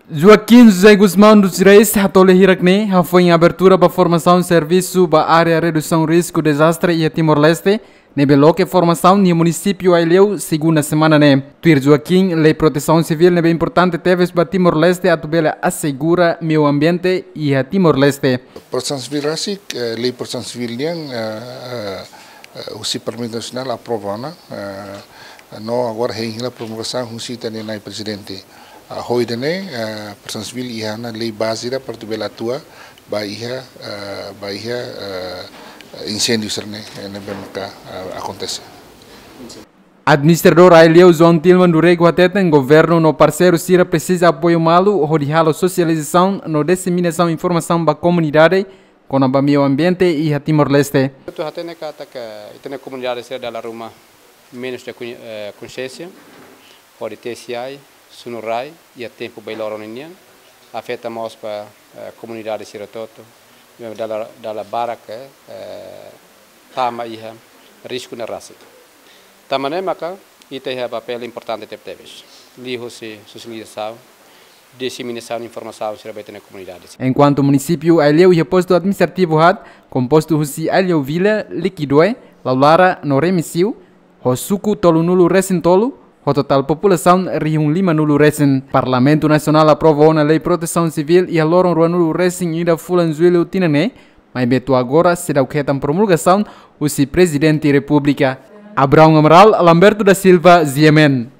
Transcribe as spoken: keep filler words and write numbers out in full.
Joaquim José Gusmão dos Reis hato'o lia hirak ne'e hafoin abertura ba formasaun servisu ba área redusaun risku dezastre iha Timor-Leste, ne'ebé loke formasaun iha munisípiu Aileu, segunda semana ne'e. Tuir Joaquim, lei protesaun sivíl ne'ebé importante tebes ba Timor-Leste atu bele asegura meiu ambiente iha Timor-Leste. Protesaun sivíl rasik, eh, lei protesaun sivíl nian, eh, eh, eh, husi Parlamentu Nasionál aprova ona, eh, no agora hein hela promulgasaun husi ita-nia Na'i Prezidente. Ah, ho ida-ne'e, eh, protesaun sivíl iha ona lei baze ida para atu bele atua ba iha, eh, ba iha, eh, inséndiu sira-ne'e, eh, ne'ebé maka, eh, akontese. Administradór Aileu João Tilman do Rego hateten governu no parseiru sira presiza apoiu malu hodi halo sosializasaun no diseminasaun informasaun ba komunidade kona-ba meiu ambiente iha Timor-Leste. Atu hatene katak ita-nia komunidade sira dala ruma menus de kon-, eh, konxiénsia hodi tesi ai, sunu rai iha tempu bailoron ninian, afeta mós ba, eh, komunidade sira hotu-hotu, dala, dala barak, eh, tama iha risku ne'e rasik. Tanba ne'e maka ita iha papél importante tebetebes liuhusi sosializasaun, diseminasaun informasaun sira ba ita-nia komunidade. Enkuantu munisípiu Aileu iha postu administrativu haat, kompostu husi Aileu Vila, Liquidoe, Laulara no Remexio, ho suku tolunulu resin tolu, ho totál populasaun rihun limanulu resin. Parlamentu Nasionál aprova ona lei protesaun sivíl iha loron ruanulu resin ida fulan Jullu tinan ne'e, maibé to'o agora seidauk hetan promulgasaun husi Prezidente Repúblika. Abraão Amaral, Lamberto da Silva, G M N.